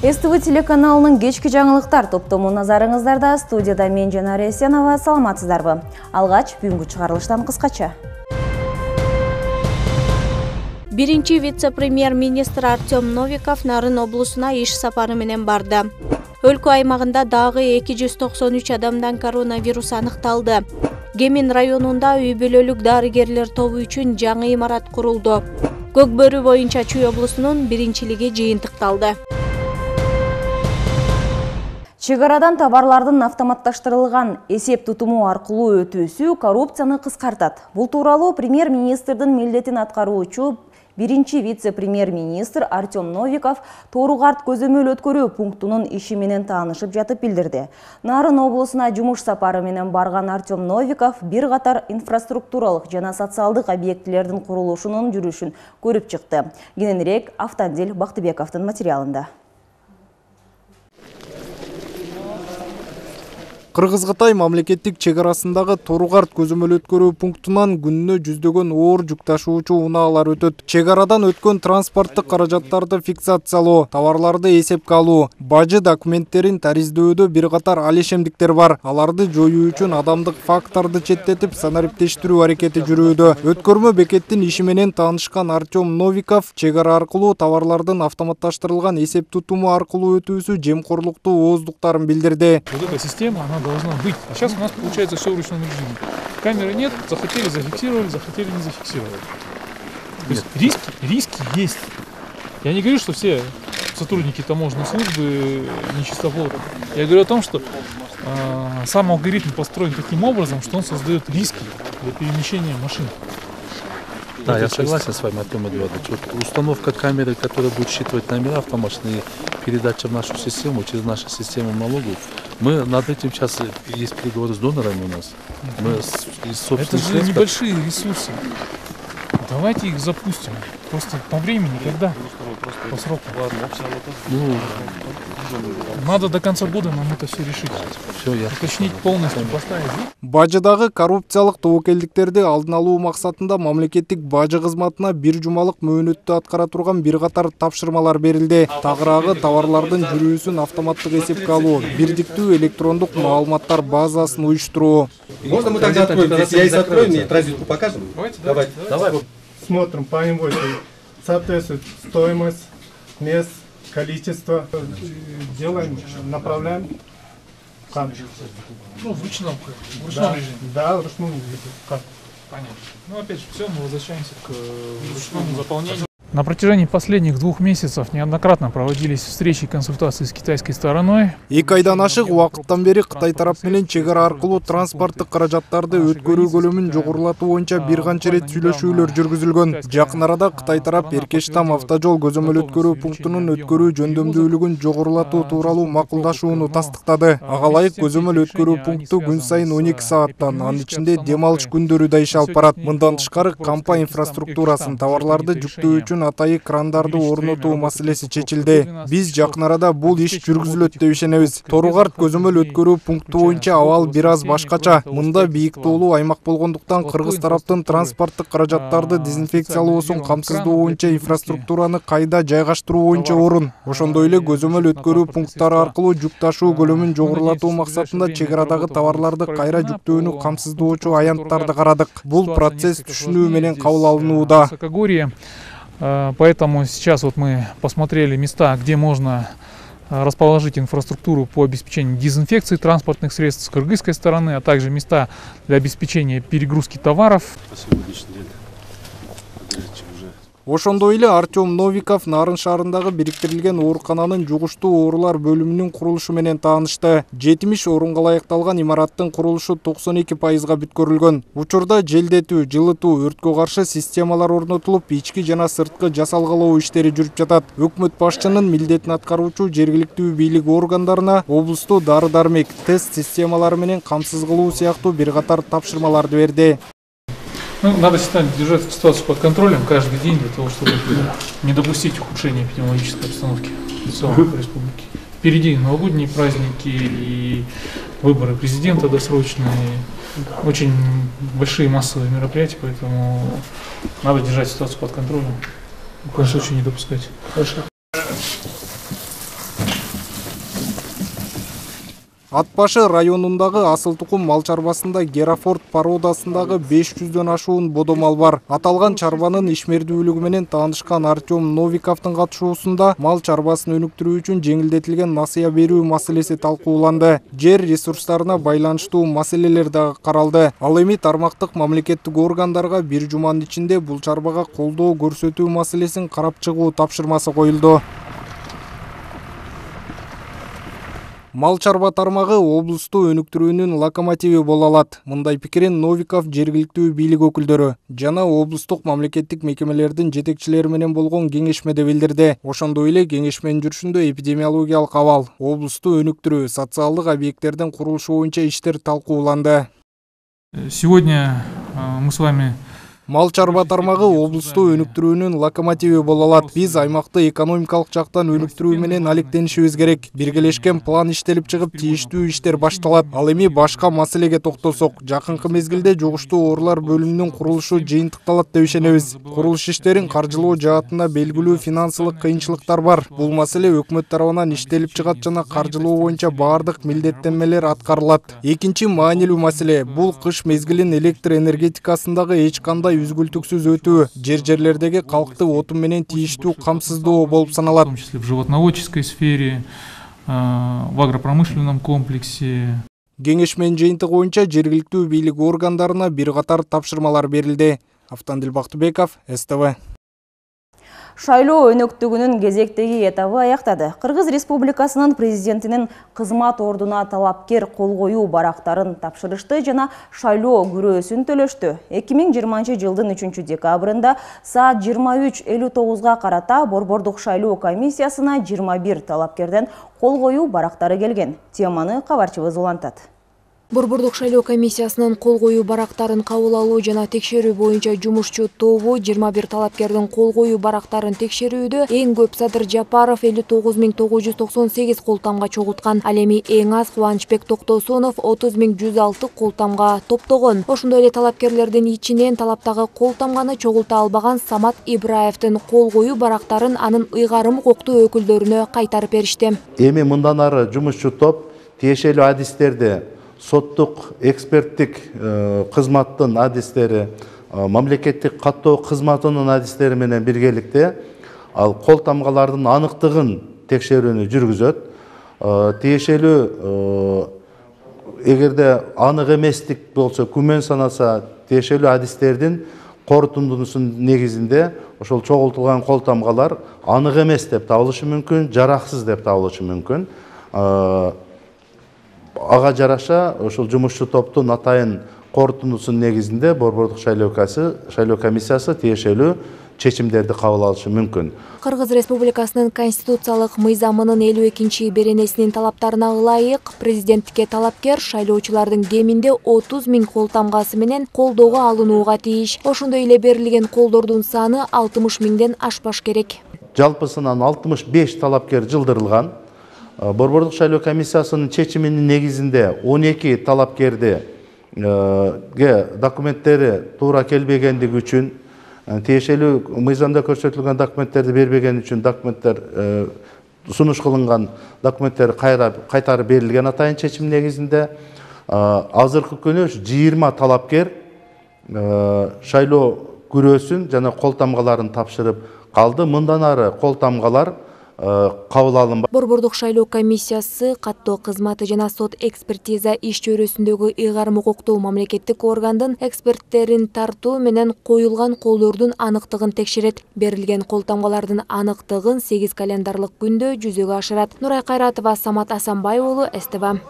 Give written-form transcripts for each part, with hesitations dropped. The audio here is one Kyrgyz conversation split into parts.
СТВ телеканалынын кечки жаңылыктар топтому назарыңыздарда. Студияда мен Жанар Эсенова. Саламатсыздарбы? Алгач бүгүнкү чыгарылыштан кыскача. Биринчи вице-премьер-министр Артем Новиков Нарын облусуна иш сапары менен барды. Өлкө аймагында дагы 293 адамдан коронавирус аныкталды. Кемин районунда үй-бүлөлүк дарыгерлер тобу үчүн жаңы имарат курулду. Көк бөрү боюнча Чүй облусунун биринчилиги жыйынтыкталды. Чек арадан товарлардын автоматташтырылган эсеп тутуму аркылуу өтүүсү коррупцияны кыскартат. Бул тууралуу премьер-министрдин милдетин аткаруучу биринчи вице-премьер-министр Артем Новиков Тооругарт көзөмөл өткөрүү пунктунун иши менен таанышып жатып билдирди. Нарын облусуна жумуш сапары менен барган Артем Новиков бир катар инфраструктуралык жана социалдык объектилердин курулушунун жүрүшүн көрүп чыкты. Кененирээк Автандил Бактыбековдун материалында. Кыргыз-Кытай мамлекеттик чек арасындагы Тооругарт көзөмөл өткөрүү пунктунан күнүнө жүздөгөн оор жүк ташуучу унаалар өтөт. Чек арадан өткөн транспорттук каражаттарды фиксациялоо, товарларды эсепке алуу, бажы документтерин тариздөөдө бир катар алишемдиктер бар. Аларды жоюу үчүн адамдык факторду четтетип санариптештирүү аракети жүрүүдө. Өткөрмө бекеттин иши менен таанышкан Артем Новиков чек ара аркылуу товарлардын автоматташтырылган эсеп тутуму аркылуу өтүүсү жемкорлуктуу ооздуктарын билдирди. Должна быть. А сейчас у нас получается все в ручном режиме. Камеры нет, захотели зафиксировали, захотели не зафиксировали. То есть риски есть. Я не говорю, что все сотрудники таможенной службы нечистоплотны. Я говорю о том, что сам алгоритм построен таким образом, что он создает риски для перемещения машин. Да, я согласен с вами, Артем Эдуардович. Вот установка камеры, которая будет считывать номера автомашины, передача в нашу систему, через нашу систему налогов. Мы над этим сейчас есть переговоры с донорами у нас. Мы это же небольшие ресурсы. Давайте их запустим. Просто по времени, когда? По сроку. Надо до конца года нам это все решить. Все, я уточнить полностью, поставить. Бажыдагы коррупциялык тобокелдиктерди алдын алуу максатында мамлекеттик бажы кызматына бир жумалык мөөнөттү аткара турган бир катар тапшырмалар берилди. Тагыраагы товарлардын жүрүүсүн автоматтык эсепке алуу, бирдиктүү электрондук маалыматтар базасын уюштуруу. Можно мы тогда откроем? Здесь я и откроем, и транзитку покажем? Давайте. Смотрим по инвойсу, соответствует стоимость, мест, количество. Делаем, направляем. Ну, в ручном режиме. Да, в ручном режиме. Понятно. Ну, опять же, все, мы возвращаемся к ручному заполнению. На протяжении последних 2 месяцев неоднократно проводились встречи и консультации с китайской стороной. 2 айдан ашык убакыттан бери Кытай тарап менен чек ара аркылуу транспорттук каражаттарды өткөрүү көлөмүн жогорулатуу боюнча бир канча рет сүйлөшүүлөр жүргүзүлгөн. Жакын арада Кытай тарап Эркештам автожол көзөмөл өткөрүү пунктунун өткөрүү жөндөмдүүлүгүн жогорулатуу тууралуу макулдашууну тастыктады. Ага ылайык көзөмөл өткөрүү пункту күн сайын 12 сааттан, анын ичинде дем алыш күндөрү да иш алып барат. Мындан тышкары кампа инфраструктурасын, товарларды жүктөө үчүн атайы крандарды орнотуу маселеси чечилди. Биз жакын арада бул иш жүргүзүлөт деп ишенебиз. Тооругарт көзөмөл өткөрүү пункту боюнча абал бир аз башкача. Мында бийик тоолуу аймак болгондуктан кыргыз тараптын транспорттук каражаттарды дезинфекциялоосун камсыздоо боюнча инфраструктураны кайда жайгаштыруу боюнча орун. Ошондой эле көзөмөл өткөрүү пункттары аркылуу жүк ташуу көлөмүн жогорулатуу максатында чек арадагы товарларды кайра жүктөөнү камсыздоочу аянттарды карадык. Бул процесс түшүнүү менен кабыл алынууда. Поэтому сейчас вот мы посмотрели места, где можно расположить инфраструктуру по обеспечению дезинфекции транспортных средств с кыргызской стороны, а также места для обеспечения перегрузки товаров. Ошондой эле Артем Новиков Нарын шаарындагы бириктирилген оорукананын жугуштуу оорулар бөлүмүнүн курулушу менен таанышты. 70 орунга ылайыкталган имараттын курулушу 92%га бүткөрүлгөн. Учурда желдетүү, жылытуу, өрткө каршы системалар орнотулуп, ички жана сырткы жасалгалоо иштери жүрүп жатат. Өкмөт башчынын милдетин аткаруучу жергиликтүү бийлик органдарына облусту дары-дармек, тест системалары менен камсыз кылуу сыяктуу бир катар тапшырмаларды берди. Ну, надо держать ситуацию под контролем каждый день для того, чтобы не допустить ухудшения эпидемиологической обстановки в целом республики. Впереди новогодние праздники и выборы президента досрочные, очень большие массовые мероприятия, поэтому надо держать ситуацию под контролем, в коем случае не допускать. Хорошо. Ат башы районундагы асыл тукум мал чарбасында Герафорд породасындагы 500дөн ашуун бодомал бар. Аталган чарбанын ишмердүүлүгү менен таанышкан Артем Новиковдун катышуусунда мал чарбасын өнүктүрүү үчүн жеңилдетилген насыя берүү маселеси талкууланды. Жер ресурстарына байланыштуу маселелер дагы каралды. Ал эми тармактык мамлекеттик органдарга бир жуманын ичинде бул чарбага колдоо көрсөтүү маселесин карап чыгуу тапшырмасы коюлду. Мал чарба тармагы облусту өнүктүрүүнүн локомотиви боло алат. Мындай пикирин Новиков жергиликтүү бийлик өкүлдөрү жана облустук мамлекеттик мекемелердин жетекчилери менен болгон кеңешмеде билдирди. Ошондой эле кеңешменин жүрүшүндө эпидемиологиялык абал, облусту өнүктүрүү, социалдык объекттердин курулушу боюнча иштер талкууланды. Сегодня мы с вами Мал чарба тармагы облусту өнүктүрүүнүн локомотиви боло алат. Биз аймакты экономикалык жактан өнүктүрүү менен алектенишибиз керек. Биргелешкен план иштелип чыгып, тийиштүү иштер башталат. Ал эми башка маселеге токтолсок, жакынкы мезгилде жугуштуу оорулар бөлүмүнүн курулушу жыйынтыкталат деп ишенебиз. Курулуш иштерин каржылоо жаатында белгилүү финансылык кыйынчылыктар бар. Бул маселе өкмөт тарабынан иштелип чыгат жана каржылоо боюнча баардык милдеттенмелер аткарылат. Экинчи маанилүү маселе бул кыш мезгилин электр энергетикасындагы эч кандай үзгүлтүксүз өтүү, жерлердеги калкты отун менен тийиштүү камсыздоо болуп саналат. В том числе в животноводческой сфере, в агропромышленном комплексе. Кеңешменин жыйынтыгы боюнча жергиликтүү бийлик органдарына бир катар тапшырмалар берилди. Автандил Бактыбеков, СТВ. Шайлоо өнөктүгүнүн кезектеги этабы аяктады. Кыргыз Республикасынын президентинин кызмат ордуна талапкер кол коюу барактарын тапшырышты жана шайлоо күрөөсүн төлөштү. 2020 жылдын 3 декабрында саат 23:59 карата Борбордук шайлоо комиссиясына 21 талапкерден кол коюу барактары келген. Теманы кабарчыбыз улантат. Борбордук шайлоо комиссиясынын кол коюу барактарын кабыл алуу жана текшерүү боюнча жумушчу тобу 21 талапкердин кол коюу барактарын текшерүүдө эң көп Садыр Жапаров 59998 колтамга чогулткан. Ал эми эң аз Кубанычбек Токтосунов 30106 колтамга топтогон. Ошондой эле талапкерлердин ичинен талаптагы колтамганы чогулта албаган Самат Ибраевдин кол коюу барактарын анын ыйгарым укуктуу өкүлдөрүнө кайтарып беришти. Эми мындан ары жумушчу топ тиешелүү адистерди соттук эксперттик кызматтын адистери, мамлекеттик каттоо кызматынын адистери менен биргеликте ал кол тамгалардын аныктыгын текшерүүнү жүргүзөт. Тиешелүү эгерде анык эместик болсо, күмөн санаса, тиешелүү адистердин корутундуусунун негизинде ошол чогултулган кол тамгалар анык эмес деп табылышы мүмкүн, жараксыз деп табылышы мүмкүн. Ага жараша ошол жумушчу топтун атайын корутундусунун негизинде Борбордук шайлоо комиссиясы тиешелүү чечимдерди кабыл алышы мүмкүн. Кыргыз Республикасынын конституциялык мыйзамынын 52-беренесинин талаптарына ылайык президенттикке талапкер шайлоочулардын кеминде 30 000 кол тамгасы менен колдоого алынууга тийиш. Ошондой эле берилген колдордун саны 60 000ден ашпаш керек. Жалпысынан 65 талапкер жылдырылган. Борбордук шайлоо комиссиясынын чечиминин негизинде 12 талапкерди документтери туура келбегендиги үчүн, тиешелүү мыйзамда көрсөтүлгөн документтерди бербеген үчүн документтер сунуш кылынган документтер кайтарып берилген атайын чечим негизинде азыркы күнү 20 талапкер шайлоо күрөөсүн жана кол тамгаларын тапшырып калды. Мындан ары кол тамгалар кабыл алынбайт. Борбордук шайлоо комиссиясы каттоо кызматы жана сот экспертиза иш чөйрөсүндөгү ыйгарым укуктуу мамлекеттик органдын эксперттерин тартуу менен коюлган колдордун аныктыгын текшерет. Берилген кол тамгалардын аныктыгын 8 календарлык күндө жүзөгө ашырат. Нурай Кайратова, Самат Асанбай уулу, СТВ.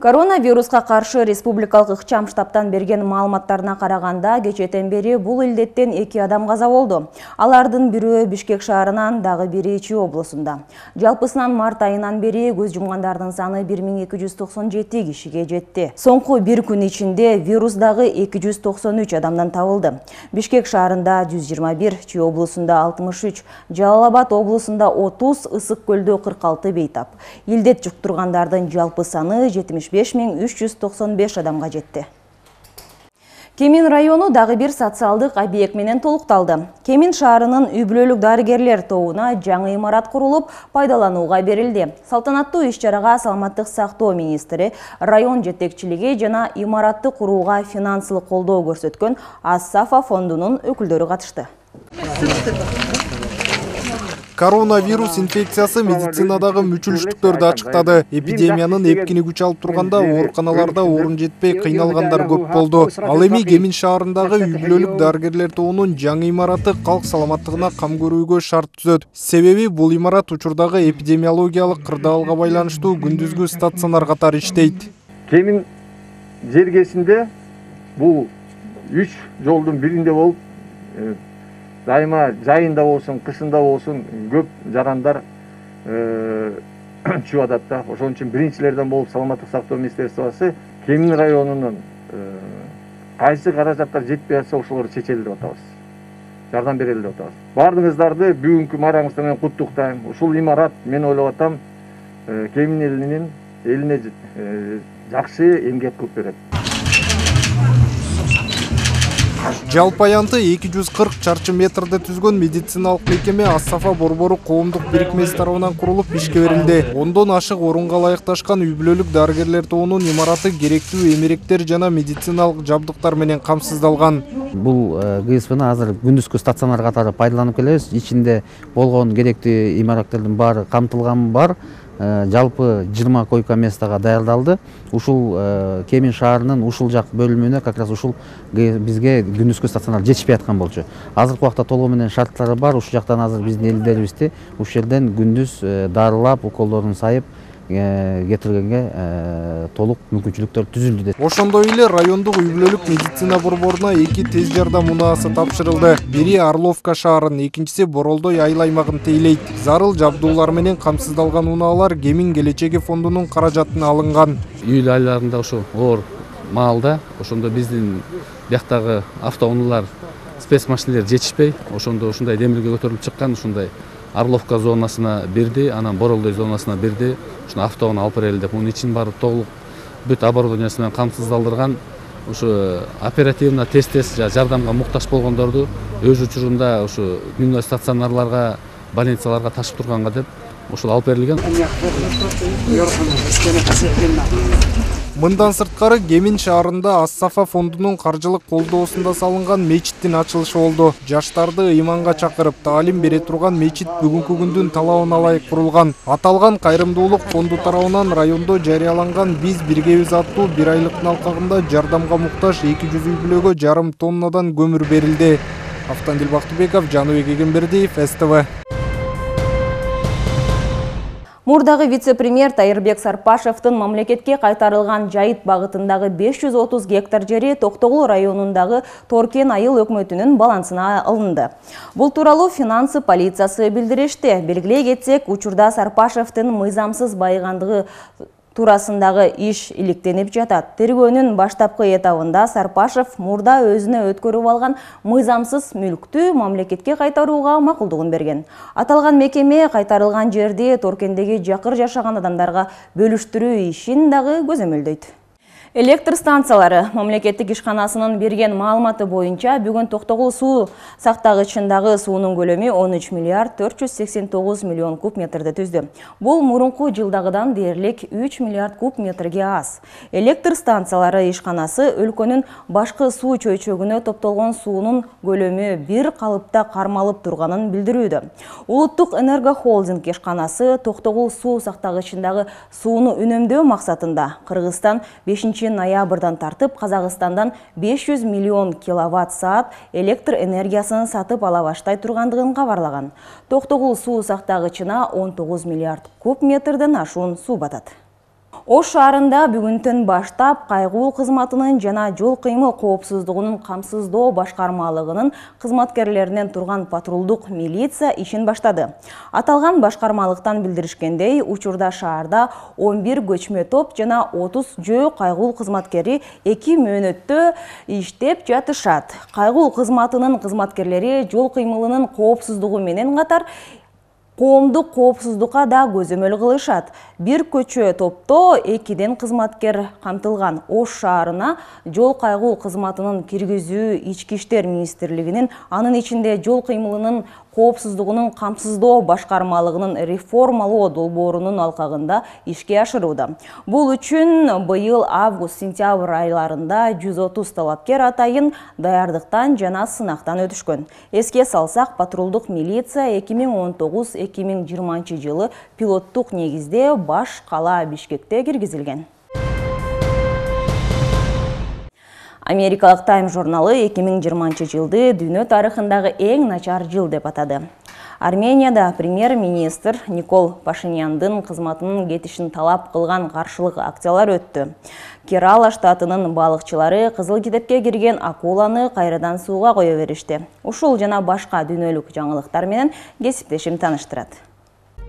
Коронавируска каршы республикалык ыкчам штабтан берген маалыматтарына караганда, кечээден бери бул илдеттен 2 адам каза болду. Алардын бирөө Бишкек шаарынан, дагы бири Чүй облусунда. Жалпысынан март айынан бери көз жумгандардын саны 1297 кишиге жетти. Соңку бир күн ичинде вирус дагы 293 адамдан табылды. Бишкек шаарында 121, Чүй облусунда 63, Жалал Абад облусунда 30, Ысык көлдө 46 бейтап. Илдет жуктургандардын жалпы саны 75 395 адамга жетти. Кемин району дагы бир социалдык объект менен толукталды. Кемин шаарынын үй-бүлөлүк дарыгерлер тобуна жаңы имарат курулуп, пайдаланууга берилди. Салтанаттуу иш-чарага саламаттык сактоо министри, район жетекчилиги жана имаратты курууга финансылык колдоо көрсөткөн Ассафа фондунун өкүлдөрү катышты. Коронавирус инфекциясы медицинадагы мүчүлүштүктөрдү ачыктады. Эпидемиянын эпкини күч алып турганда ооруканаларда орун жетпей кыйналгандар көп болду. Ал эми Кемин шаарындагы үй-бүлөлүк дарыгерлер тобунун жаңы имараты калк саламаттыгына кам көрүүгө шарт түзөт. Себеби бул имарат учурдагы эпидемиологиялык кырдаалга байланыштуу күндүзгү стационар катары иштейт. Кемин жергесинде бул 3 жолдун биринде болуп дайыма жайында болсун, кышында болсун көп жарандар чыгып атат да. Ошон үчүн биринчилерден болуп саламаттык сактоо министерствосу Кемин районунун кайсы каражаттар жетпей атса ошолорду чечели деп атабыз. Жардам берели деп атабыз. Бардыгыңыздарды бүгүнкү маараңыздар менен куттуктайм. Ушул имарат мен ойлоп атам Кемин элине жакшы эмгек кылып берет. Жалпы аянты 240 чарчы метрде түзгөн медициналык мекеме Ассафа борбору коомдук бирикмеси тарабынан курулуп ишке берилди. Ондон ашык орунга ылайыкташкан үй-бүлөлүк дарыгерлер тобунун имараты керектүү эмеректер жана медициналык жабдыктар менен камсыздалган. Бул ГСПны азыр күндүзгү стационар катары пайдаланып келебиз. Ичинде болгон керектүү имараттардын баары камтылган бар. Жалпы 20 койка местага даярдалды. Ушул Кемин шаарынын ушул жак бөлүмүнө как раз ушул бизге күндүзгү стационар жетишпей аткан болчу. Азыркы убакта толугу менен шарттары бар. Ушул жактан азыр биздин элдерибизди ушул жерден күндүз дарылап, уколдорун сайып кетиргенге толук мүмкүнчүлүктөр түзүлдү деп. Ошондой эле райондук үй-бүлөлүк медицина борборуна 2 тез жардам унаасы тапшырылды. Бири Орловка шаарын, экинчиси Боролдой айыл аймагын тейлейт. Зарыл жабдуулар менен камсыздалган унаалар Кемин келечеги фондунун каражатына алынган. Июль айларында ошо оор маалда ошондо биздин бияктагы автоунаалар, спецмашинелер жетишпей, ошондо ушундай демилге көтөрүлүп чыккан, ушундай Орловка зонасына бирди, анан Боролдой зонасына бирди. Ушуну автоуна алып берели деп, мунун ичин баары толук бүт оборудованиясы менен камсыздалдырган. Ушу оперативно тез жардамга муктаж болгондорду өз учурунда ушу дневной стационарларга, больницаларга ташып турганга деп ушул алып берилген. Мындан сырткары Кемин шаарында Ассафа фондунун каржылык колдоосунда салынган мечиттин ачылышы болду. Жаштарды ыйманга чакырып, таалим бере турган мечит бүгүнкү күндүн талабына ылайык курулган. Аталган кайрымдуулук фонду тарабынан райондо жарыяланган «Биз биргебиз» аттуу бир айлыктын алкагында жардамга муктаж 200 үй-бүлөгө 1,5 тоннадан көмүр берилди. Автандил Бактыбеков, Жаныбек Эгембердиев, СТВ. Мурдагы вице-премьер Тайырбек Сарпашевдин мамлекетке кайтарылган жайыт багытындагы 530 гектар жери Токтогул районундагы Торкен айыл өкмөтүнүн балансына алынды. Бул тууралуу финансы полициясы билдиришти. Белгилей кетсек, учурда Сарпашевдин мыйзамсыз байыгандыгы туурасындагы иш иликтенип жатат. Тергөөнүн баштапкы этабында Сарпашев мурда өзүнө өткөрүп алган мыйзамсыз мүлктү мамлекетке кайтарууга макулдугун берген. Аталган мекеме кайтарылган жерди Торкендеги жакыр жашаган адамдарга бөлүштүрүү ишин дагы көзөмөлдөйт. Электр станциялары мамлекеттик ишканасынын берген маалыматы боюнча бүгүн Токтогул суу сактагычындагы суунун көлөмү 13 миллиард 489 миллион куб метрди түздү. Бул мурунку жылдагыдан дээрлик 3 миллиард куб метрге аз. Электр станциялары ишканасы өлкөнүн башкы суу чөйчөгүнө топтолгон суунун көлөмү бир калыпта кармалып турганын билдирүүдө. Улуттук энергохолдинг ишканасы Токтогул суу сактагычындагы сууну үнөмдөө максатында Кыргызстан 5 ноябрдан тартып Казакстандан 500 миллион киловатт-саат электр энергиясын сатып ала баштай тургандыгын кабарлаган. Токтогул суу сактагычына 19 миллиард куб метрден ашуун суу батат. Ош шаарында бүгүнтөн баштап кайгуу кызматынын жана жол кыймыл коопсуздугунун камсыздоо башкармалыгынын кызматкерлеринен турган патрулдук милиция ишин баштады. Аталган башкармалыктан билдиришкендей, учурда шаарда 11 көчмө топ жана 30 жөө кайгуу кызматкери 2 мөөнөттө иштеп жатышат. Кайгуу кызматынын кызматкерлери жол кыймылынын коопсуздугу менен катар Коомдук коопсуздукка да көзөмөл кылышат. Бир көчө топто 2ден кызматкер камтылган. Ош шаарына жол кайгуу кызматынын киргизүү Ички иштер министрлигинин, анын ичинде жол кыймылынын коопсуздугунун камсыздоо башкармалыгынын реформалоо долбоорунун алкагында ишке ашырууда. Бул үчүн быйыл август-сентябрь айларында 130 талапкер атайын даярдыктан жана сынактан өтүшкөн. Эске салсак, патрулдук милиция 2019-2020 жылы пилоттук негизде баш кала Бишкекте киргизилген. Америкалык Time журналы 2020 жылды дүйнө тарыхындагы эң начар жыл деп атады. Арменияда премьер-министр Никол Пашиняндын кызматынын кетишин талап кылган каршылык акциялар өттү. Керала штатынын балыкчылары Кызыл китепке кирген акуланы кайрадан сууга кое беришти. Ушул жана башка дүйнөлүк жаңылыктар менен кесиптешим таныштырат.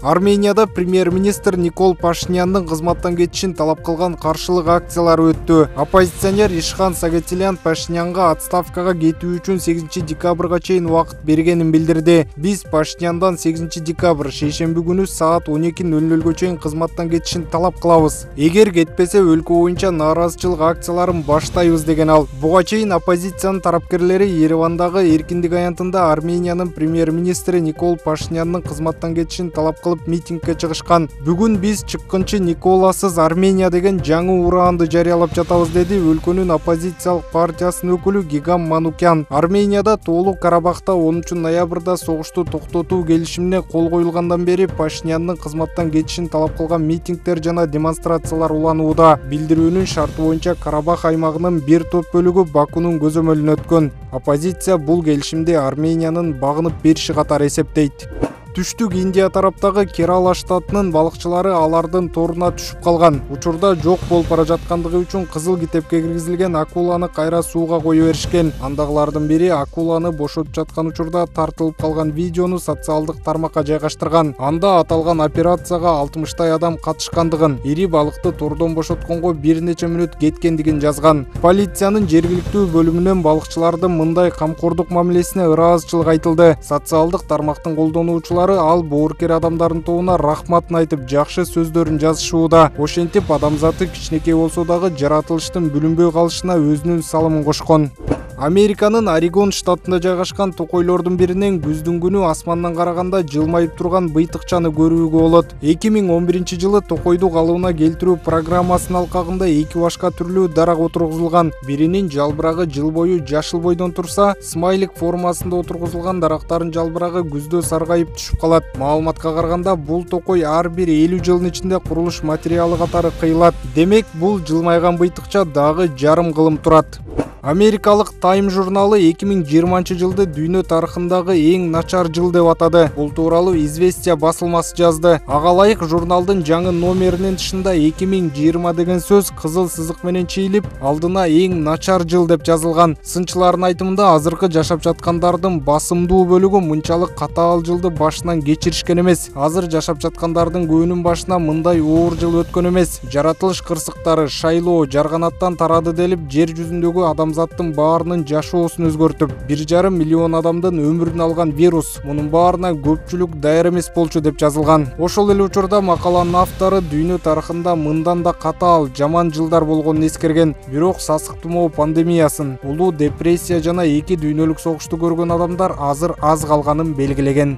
Арменияда премьер-министр Никол Пашиняндын кызматтан кетишин талап кылган каршылык акциялар өттү. Оппозиционер Ишхан Сагатилян Пашинянга отставкага кетүү үчүн 8 декабрга чейин убакыт бергенин билдирди. Биз Пашиняндан 8 декабрь шейшемби күнү саат 12:00 чейин кызматтан кетишин талап кылабыз. Эгер кетпесе өлкө боюнча нааразычылык акцияларын баштайбыз деген ал. Буга чейин оппозициянын тарапкерлери Еревандагы Эркиндик аянтында Армениянын премьер-министри Никол Пашиняндын кызматтан кетишин талап кылып митингге чыгышкан. Бүгүн биз чыккынчы Николасыз Армения деген жаңы ураанды жарыялап жатабыз, деди өлкөнүн оппозициялык партиясынын өкүлү Гигам Манукян. Арменияда Тоолук Карабахта 10 ноябрда согушту токтотуу келишимине кол коюлгандан бери Пашиняндын кызматтан кетишин талап кылган митингдер жана демонстрациялар уланууда. Билдирүүнүн шарты боюнча Карабах аймагынын бир топ бөлүгү Бакунун көзөмөлүнө өткөн. Оппозиция бул келишимди Армениянын багынып бериши катары эсептейт. Түштүк Индия тараптагы Керала штатынын балыкчылары алардын торуна түшүп калган. Учурда жок болуп бара жаткандыгы үчүн Кызыл китепке киргизилген акуланы кайра сууга кое беришкен. Андагылардын бири акуланы бошотуп жаткан учурда тартылып калган видеону социалдык тармакка жайгаштырган. Анда аталган операцияга 60 адам катышкандыгын, ири балыкты тордон бошотконго бир нече мүнөт кеткендигин жазган. Полициянын жергиликтүү бөлүмүнөн балыкчылардын мындай камкордук мамилесине ыраазычылык айтылды. Социалдык тармактын колдонуучулары ал боорукер адамдардын тобуна рахматын айтып, жакшы сөздөрүн жазышууда. Ошентип адамзаты кичинекей болсо дагы жаратылыштын бүлүнбөй калышына өзүнүн салымын кошкон. Американын Орегон штатында жайгашкан токойлордун биринен күздүн күнү асмандан караганда жылмайып турган быйтыкчаны көрүүгө болот. 2011 жылы токойду калыбына келтирүү программасынын алкагында 2 башка түрлүү дарак отургузулган. Биринин жалбырагы жыл бою жашыл бойдон турса, смайлик формасында отургузулган дарактардын жалбырагы күздө саргайып түшүп калат. Маалыматка караганда бул токой ар бир 50 жылдын ичинде курулуш материалы катары кыйылат. Демек, бул жылмайган быйтыкча дагы жарым кылым турат. Америкалык Time журналы 2020 жылды дүйнө тарыхындагы эң начар жыл деп атады. Бул тууралуу Известия басылмасы жазды. Ага ылайык журналдын жаңы номеринин тышында 2020 деген сөз кызыл сызык менен чийилип, алдына эң начар жыл деп жазылган. Сынчылардын айтымында азыркы жашап жаткандардын басымдуу бөлүгү мынчалык катаал жылды башынан кечиришкен эмес. Азыр жашап жаткандардын көбүнүн башына мындай оор жыл өткөн эмес. Жаратылыш кырсыктары, шайлоо, жарганаттан тарады делип, жер жүзүндөгү адамзаттын баарынын жашоосун өзгөртүп, 1,5 миллион адамдын өмүрүн алган вирус. Мунун баарына көпчүлүк даяр эмес болчу деп жазылган. Ошол эле учурда макаланын автору дүйнө тарыхында мындан да катаал, жаман жылдар болгонун эскерген. Бирок сасык тумоо пандемиясын, улуу депрессия жана 2 дүйнөлүк согушту көргөн адамдар азыр аз калганын белгилеген.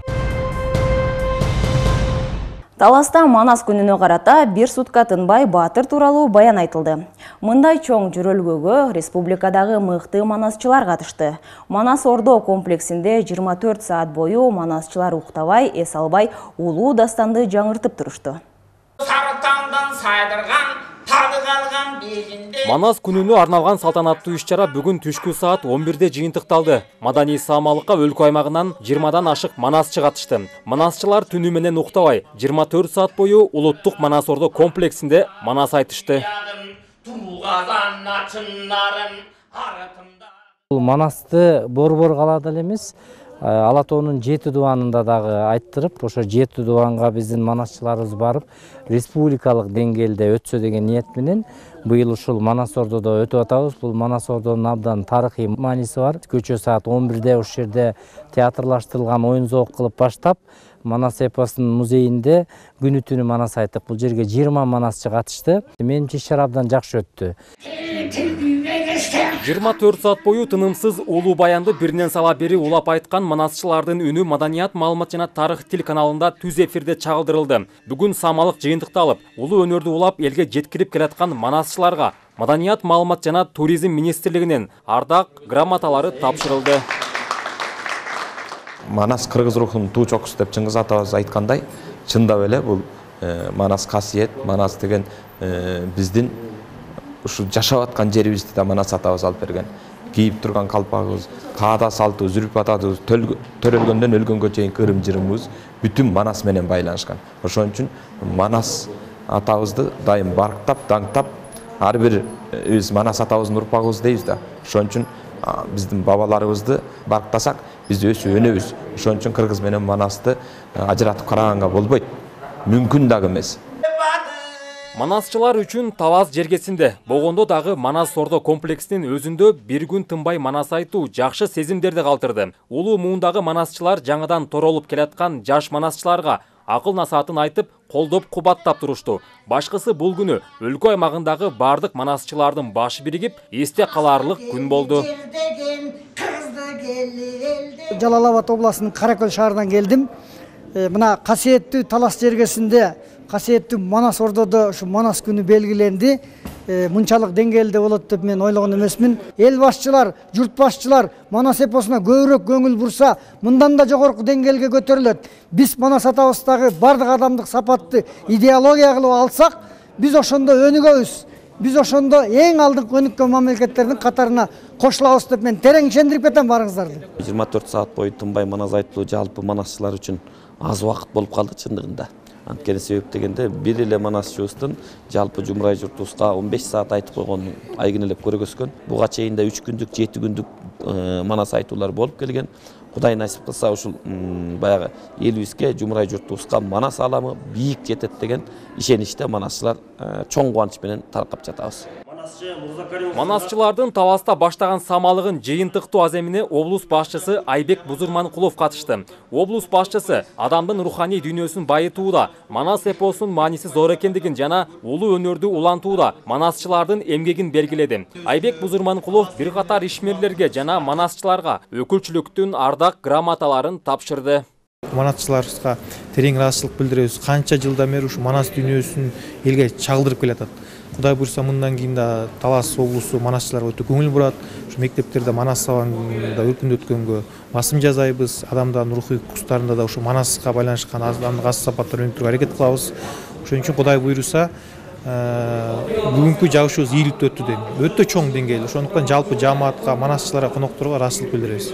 Таласта Манас күнүнө карата бир сутка тынбай баатыр тууралуу баян айтылды. Мындай чоң жөрөлгөгө республикадагы мыкты манасчылар катышты. Манас Ордо комплексинде 24 саат бою манасчылар уктабай, эс албай улуу дастанды жаңыртып турушту. Сарытаңдан сайдырган Манас күнүнө арналган салтанаттуу иш-чара бүгүн түшкү саат 11-де жыйынтыкталды. Маданий саамалыкка өлкө аймагынан 20дан ашык манасчы катышты. Манасчылар түнү менен уктабай 24 саат бою улуттук Манас Ордо комплексинде манас айтышты. Манасты борбор калаада эле эмес, Ала тоонун 7 дубанында дагы айттырып, ошо 7 дубанга биздин манасчыларыбыз барып, республикалык деңгээлде өтсө деген ниет менен быйыл ушул Манас Ордодо өтүп атабыз. Бул Манас Ордонун абдан тарыхый мааниси бар. Кечээ саат 11-де ушул жерде театрлаштырылган оюн-зоок кылып баштап, Манас эпосунун музейинде күнү түнү манас айтып, бул жерге 20 манасчы катышты. Менимче иш-чара абдан жакшы өттү. 24 саат бою тынымсыз улуу баянды биринен сала бери улап айткан манасчылардын үнү Маданият, маалымат жана тарых телеканалында түз эфирде чагылдырылды. Бүгүн самалык жыйынтыкталып, улуу өнөрдү улап элге жеткирип келаткан манасчыларга Маданият, маалымат жана туризм министрлигинин ардак грамоталары тапшырылды. Манас кыргыз рухунун туу чокусу деп Чыңгыз атабыз айткандай, чындап эле бул Манас касиет, Манас деген биздин ушу жашап аткан жерибизди да Манас атабыз алып берген. Кийип турган калпагыбыз, каада салтыбыз, үрп атабыз, төрөлгөндөн өлгөнгө чейинки ырым-жырымыбыз бүтүн Манас менен байланышкан. Ошон үчүн Манас атабызды дайым барктап, даңктап, ар бир биз Манас атабыздын урпагыбыз дейбиз да. Ошон үчүн биздин бабаларыбызды барктасак, биз өсүп өнөбүз. Ошон үчүн кыргыз менен Манасты ажыратып караганга болбойт. Мүмкүн дагы эмес. Манасчылар үчүн Таваз жергесинде болгондо дагы Манас Ордо комплексинин өзүндө бир күн тынбай манас айтуу жакшы сезимдерди калтырды. Улуу муундагы манасчылар жаңыдан торолуп келаткан жаш манасчыларга акыл насаатын айтып, колдоп кубаттап турушту. Башкысы бул күнү өлкө аймагындагы бардык манасчылардын башы биригип, эсте калаарлык күн болду. Жалал Абад областынын Каракөл шаарынан келдим. Мына касиеттүү Талас жергесинде касиеттүү Манас Ордодо ушу Манас күнү белгиленди. Мынчалык деңгээлде болот деп мен ойлогон эмесмин. Эл башчылар, журт башчылар Манас эпосуна көбүрөөк көңүл бурса, мындан да жогорку деңгээлге көтөрүлөт. Биз Манас атабыздагы бардык адамдык сапатты идеология кылып алсак, биз ошондо өнүгөбүз. Биз ошондо эң алдыңкы өнүккөн мамлекеттердин катарына кошулабыз деп мен терең ишендирип кетем барыңыздарды. 24 саат бою тынбай манас айтылуу жалпы манасчылар үчүн аз убакыт болуп калды чындыгында. Анткени себеп дегенде бир эле манасчыбыздын жалпы жумурай журтубузга 15 саат айтып койгонун айгинелеп көргөзгөн. Буга чейин да 3 күндүк, 7 күндүк манас айтуулар болуп келген. Кудай насип кылса ушул баягы элибизге, жумурай журтубузга манас аламы бийик жетет деген ишеничте манасчылар чоң кубаныч менен таркап жатабыз. Манасчылардын Таваста баштаган самалыгын жыйынтыктуу аземине облус башчысы Айбек Бузурманкулов катышты. Облус башчысы адамдын руханий дүйнөсүн байытууда Манас эпосунун мааниси зор экендигин жана улуу өнөрдү улантууда манасчылардын эмгегин белгиледи. Айбек Бузурманкулов бир катар ишмерлерге жана манасчыларга өкүлчүлүктүн ардак грамоталарын тапшырды. Манасчыларыбызга терең ыраазычылык билдиребиз. Канча жылдан бери ушу Манас дүйнөсүн элге чагылдырып келатат. Кудай буйрса мындан кийин да Талас облусу манасчыларга өтө көңүл бурат. Ушу мектептерде Манас сабагында өркүндөткөнгө басым жасайбыз. Адамдардын рухий кустарында да ушу Манаска байланышкан адамдык ас сапаттар өнүктүрүүгө аракет кылабыз. Ошон үчүн Кудай буйруса бүгүнкү жабышыбыз ийгиликтүү өттү дейм. Өтө чоң деңгээлде. Ошондуктан жалпы жааматка, манасчыларга, конокторго ыраазычылык билдиребиз.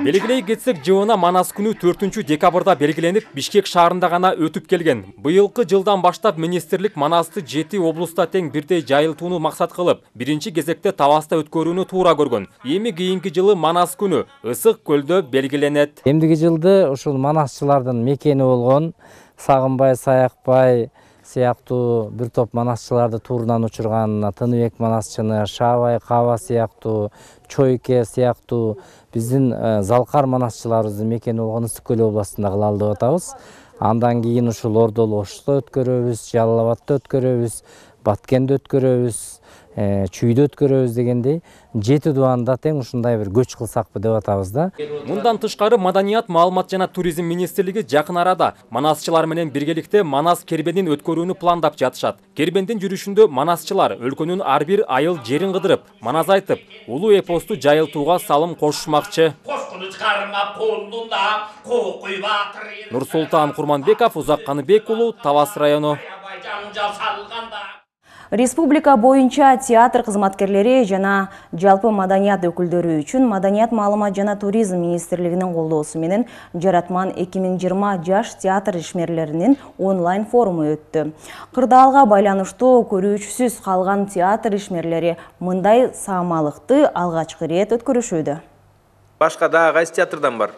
Белгилей кетсек, жылына Манас күнү 4 декабрда белгиленип, Бишкек шаарында гана өтүп келген. Быйылкы жылдан баштап министрлик Манасты 7 облуста тең бирдей жайылтууну максат кылып, биринчи кезекте Таваста өткөрүүнү туура көргөн. Эми кийинки жылы Манас күнү Ысык көлдө белгиленет. Эмдиги жылды ушул манасчылардын мекени болгон Сагынбай, Саякбай сыяктуу бир топ манасчыларды туурунан учурган Тыныбек манасчыны, Шаабай, Каба сыяктуу, Чойке сыяктуу биздин залкар манасчыларыбыздын мекени болгон Ысык көл областында кылалы деп атабыз. Андан кийин ушул Ордолу Ошто өткөрөбүз, Жалал Абадта өткөрөбүз, Баткенде өткөрөбүз, Чүйдө өткөрөбүз дегендей 7 дубанда тең ушундай бир көч кылсакпы деп атабыз да. Мындан тышкары Маданият, маалымат жана туризм министрлиги жакын арада манасчылар менен биргеликте Манас кербенин өткөрүүнү пландап жатышат. Кербендин жүрүшүндө манасчылар өлкөнүн ар бир айыл жерин кыдырып, манас айтып, улуу эпосту жайылтууга салым кошушмакчы. Нурсултан Курманбеков, Узак Каныбек уулу, Тавас району. Республика боюнча театр кызматкерлери жана жалпы маданият өкүлдөрү үчүн Маданият, маалымат жана туризм министрлигинин колдоосу менен Жаратман 2020 жаш театр ишмерлеринин онлайн форуму өттү. Кырдаалга байланыштуу көрүүчүсүз калган театр ишмерлери мындай саамалыкты алгачкы ирет өткөрүшүүдө. Башка дагы кайсы театрдан бар?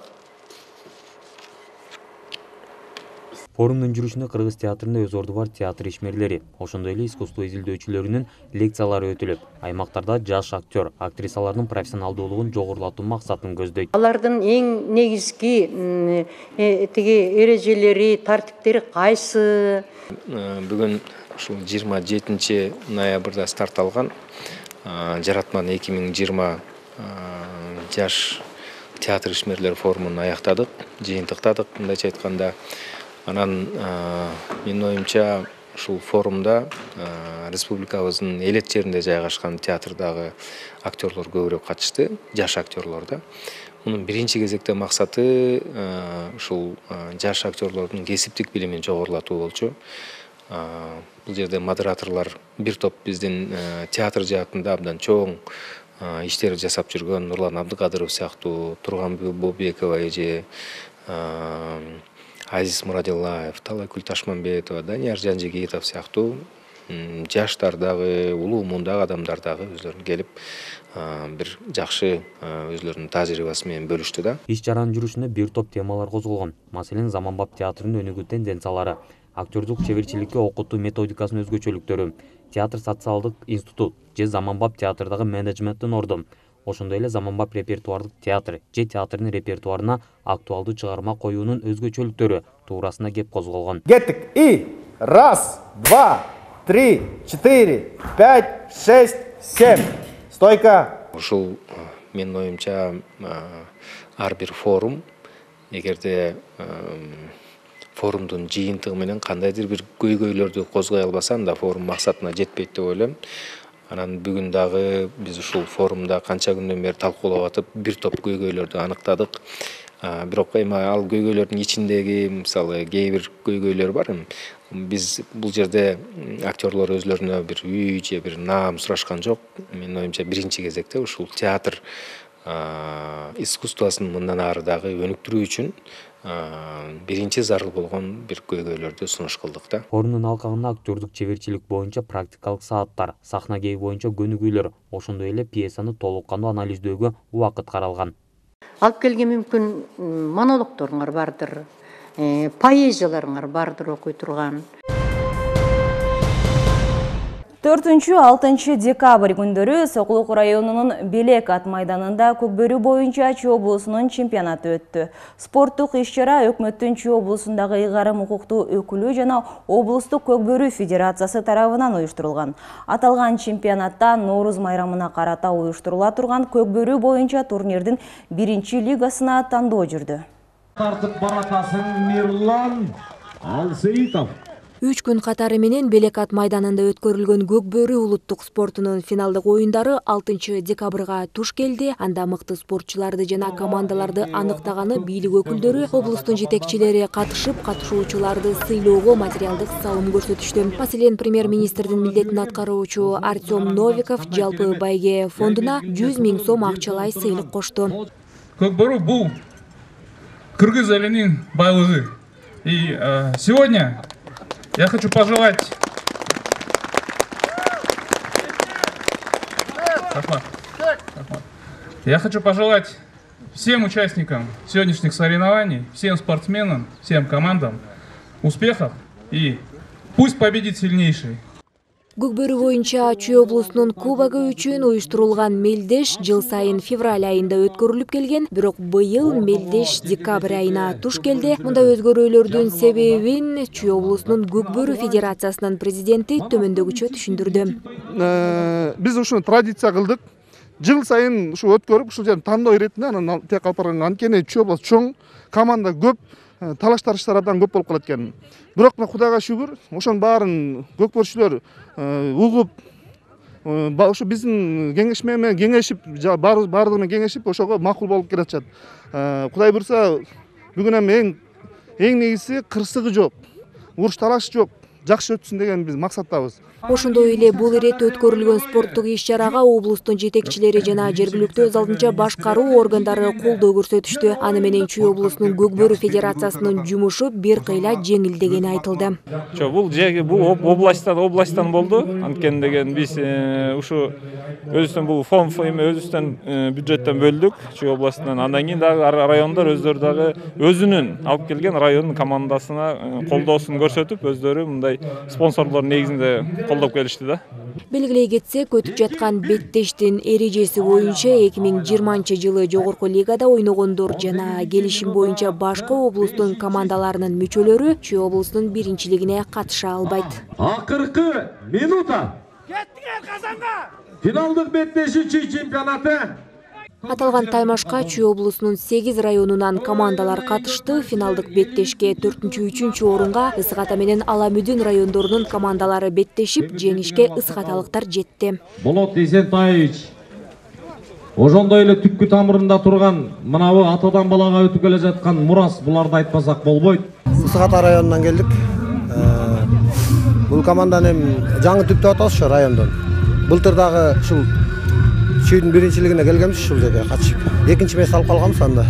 Форумдун жүрүшүнө Кыргыз театрында өз орду бар театр ишмерлери, ошондой эле искусство изилдөөчүлөрүнүн лекциялары өтүлүп, аймактарда жаш актер, актрисалардын профессионалдуулугун жогорулатуу максатын көздөйт. Алардын эң негизги тиги эрежелери, тартиптери кайсы? Бүгүн ушул 27 ноябрда старт алган Жаратман 2020 жаш театр ишмерлер форумун аяктадык, жыйынтыктадык, мындайча айтканда. Анан менин оюмча ушул форумда республикабыздын элет жеринде жайгашкан театрдагы актерлор көбүрөөк катышты, жаш актерлор да. Мунун биринчи кезекте максаты ушул жаш актерлордун кесиптик билимин жогорулатуу болчу. Бул жерде модераторлор бир топ биздин театр жаатында абдан чоң иштер жасап жүргөн Нурлан Абдыкадыров сыяктуу, Турган Бобекова эже, Азиз Мурадиллаев, Талайкүл Ташманбетова, Данияр Жанжигитов сыяктуу жаштар дагы, улуу мундагы адамдар дагы өзлөрүнүн келип бир жакшы өзлөрүнүн тажрыйбасы менен бөлүштү да. Иш чаранын жүрүшүнө бир топ темалар козголгон. Маселен, заманбап театрдын өнүгүү тенденциялары, актерлук чеберчиликке окутуу методикасынын өзгөчөлүктөрү, театр социалдык институт же заманбап театрдагы менеджменттин орду, ошондой эле заманбап репертуардык театр же театрдын репертуарына актуалдуу чыгарма коюунун өзгөчөлүктөрү туурасында кеп козголгон. Кеттик. И 1, 2, 3, 4, 5, 6, 7. Стойка. Ушул менин оюмча ар бир форум эгерде форумдун жыйынтыгы менен кандайдыр бир көйгөйлөрдү козгой албаса, анда форум максатына жетпейт деп ойлойм. Анан бүгүн дагы биз ушул форумда канча күндөн бери талкуулап атып, бир топ көйгөйлөрдү аныктадык. Бирок эми ал көйгөйлөрдүн ичиндеги мисалы кээ бир көйгөйлөр бар. Биз бул жерде актерлор өзлөрүнө бир үй же бир наам сурашкан жок. Менин оюмча биринчи кезекте ушул театр искусствосын мындан ары дагы өнүктүрүү үчүн биринчи зарыл болгон бир көйгөйлөрдү сунуш кылдык да. Форумдун алкагында актерлук чеберчилик боюнча практикалык сааттар, сахна кээби боюнча көнүгүүлөр, ошондой эле пьесаны толук кандуу анализдөөгө убакыт каралган. Алып келген мүмкүн монологторуңар бардыр, поэзияларыңар бардыр окуй турган. 4-6 декабрь күндөрү Сокулук районунун Белек ат майданында Көкбөрү боюнча Чүй облусунун чемпионаты өттү. Спорттук иш-чара өкмөттүн Чүй облусундагы ыйгарым укуктуу өкүлү жана облустук Көкбөрү федерациясы тарабынан уюштурулган. Аталган чемпионатта Нооруз майрамына карата уюштурула турган Көкбөрү боюнча турнирдин 1-лигасына тандоо жүрдү. Тартып баратасын Мирлан Алсеитов. 3 күн катары менен Белек ат майданында өткөрүлгөн Көкбөрү улуттук спортунун финалдык оюндары 6 декабрга туш келди. Анда мыкты спортчуларды жана командаларды аныктаганы бийлик өкүлдөрү, облустун жетекчилери катышып, катышуучуларды сыйлоого материалдык салым көрсөтүштү. Маселен, премьер-министрдин милдетин аткаруучу Артем Новиков жалпы байге фондуна 100 000 сом акчалай сыйлык кошту. Көкбөрү бул кыргыз элинин байлыгы. И сегодня я хочу пожелать всем участникам сегодняшних соревнований, всем спортсменам, всем командам успехов и пусть победит сильнейший. Көкбөрү боюнча Чүй облусунун кубогу үчүн уюштурулган мелдеш жыл сайын февраль айында өткөрүлүп келген, бирок быйыл мелдеш декабрь айына туш келди. Мында өзгөрүүлөрдүн себебин Чүй облусунун Көкбөрү федерациясынын президенти төмөндөгүчө түшүндүрдү. Биз ушуну традиция кылдык. Жыл сайын ушу өткөрүп, ушул жерде тандоо иретинде, анан тек алып анткени Чүй облус чоң, команда көп, талаш тарыштар абдан көп болуп калат экен. Бирок Кудайга шүгүр, ошонун баарын көкбөрчүлөр угуп, ошо биздин кеңешме менен кеңешип, баардыгы менен кеңешип, ошого макул болуп келатышат. Кудай буйрса, бүгүн эми эң негизги кырсыгы жок, уруш талаш жок, жакшы өтсүн деген биз максаттабыз. Ошондой эле бул ирет өткөрүлгөн спорттук иш-чарага облустун жетекчилери жана жергиликтүү өз алдынча башкаруу органдары колдоо көрсөтүштү. Аны менен Чүй облусунун Көкбөрү федерациясынын жумушу бир кыйла жеңилдегени айтылды. Бул областтан болду. Анткени деген биз ушу өзүбүздөн бул фонд өзүбүздөн бюджеттен бөлдүк Чүй областынан. Андан кийин дагы райондор өздөрү дагы өзүнүн алып келген райондун командасына колдоосун көрсөтүп, өздөрү мындай спонсорлор негизинде колдоп келишти да. Белгилей кетсек, өтүп жаткан беттештин эрежеси боюнча 2020-жылы жогорку лигада ойногондор жана келишим боюнча башка облустун командаларынын мүчөлөрү Чүй облусунун биринчилигине катыша албайт. Акыркы минута. Кеттиңер Казанга. Финалдык беттеши Чүй чемпионаты. Аталган таймашка Чүй облусунун 8 районунан командалар катышты. Финалдык беттешке 4-3 орунга Ысык Ата менен Ала Мүдүн райондорунун командалары беттешип, жеңишке ысыкаталыктар жетти. Болот Эсентаевич ошондой эле түпкү тамырында турган мынабы атадан балага өтүп келе жаткан мурас, буларды айтпасак болбойт. Ысык Ата районунан келдик. Бул команданы жаңы түптөп атабыз ошо райондон. Былтыр дагы ушул Чүйдүн биринчилигине келгенбиз, ушул жерге катышып. Экинчи месте алып калганбыз анда.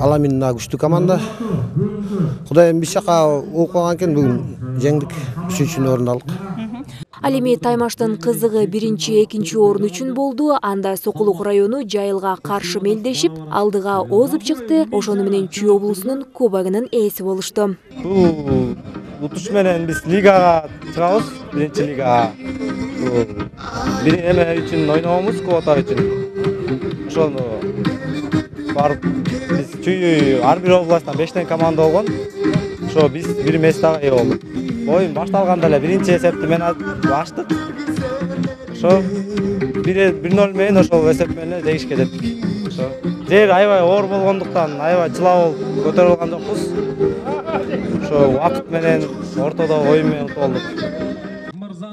Ала Мүдүн күчтүү команда. Кудайым биз жака окуп калган экен, бүгүн жеңдик, 3-чү орунду алдык. Ал эми таймаштын кызыгы 1-2 орун үчүн болду. Анда Сокулук району Жайылга каршы мелдешип, алдыга озуп чыкты. Ошону менен Чүй облусунун кубогунун ээси болушту. Бул утуш менен биз лигага чыгабыз, биринчи лигага. Бир эме үчүн ойногонбуз, квота үчүн. Ошону барып биз Чүй ар бир областтан 5 команда болгон. Ошо биз бир местага ээ болдук. Оюн башталганда эле биринчи эсепти менен ачтык. Ошо 1-0 менен ошол эсеп менен жеңишке жеттик. Ошо жер аябай оор болгондуктан аябай чыла болуп көтөрө алган жокпуз. Ошо убакыт менен ортодо оюн менен болдук.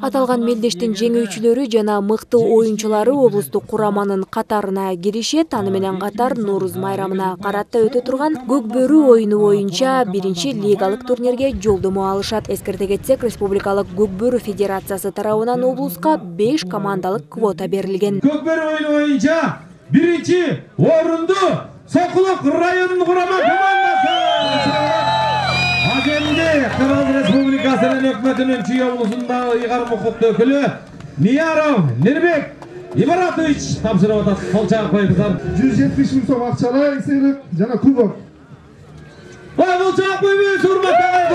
Аталган мелдештин жеңүүчүлөрү жана мыкты оюнчулары облустук кураманын катарына киришет. Аны менен катар Нооруз майрамына карата өтө турган Көкбөрү оюну боюнча биринчи лигалык турнирге жолдомо алышат. Эскерте кетсек, Республикалык Көкбөрү федерациясы тарабынан облуска 5 командалык квота берилген. Көкбөрү оюну боюнча биринчи орунду Сокулук районунун курама командасы. Кыргыз Республикасынын өкмөтүнүн Чүй облусундагы ыйгарым укуктуу өкүлү Нияров Нирбек Ибаратович тапшырып атат. Колчак койгузар. 170 миң сом акчалай сыйлык жана кубок. Колчак койбойбуз, урматтаган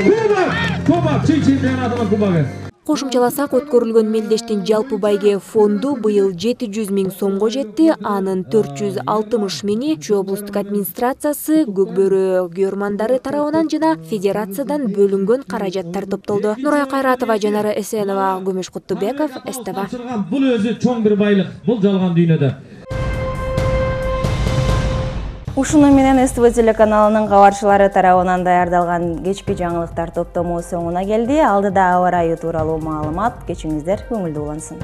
кубок. Кубок Чүй чемпионатынын кубогу. Кошумчаласак, өткөрүлгөн мелдештин жалпы байге фонду быйыл 700 миң сомго жетти. Анын 460 миңи Чүй облустук администрациясы, Көкбөрү күйөрмандары тарабынан жана федерациядан бөлүнгөн каражаттар топтолду. Нурай Кайратова, Жанара Эсенова, Көмөш Куттубеков, СТВ. Бул өзү чоң бир байлык. Бул жалган дүйнөдө. Ушуну менен СТВ телеканалынын кабарчылары тарабынан даярдалган кечки жаңылыктар топтому соңуна келди. Алдыда аба ырайы тууралуу маалымат. Кечиңиздер көңүлдүү улансын.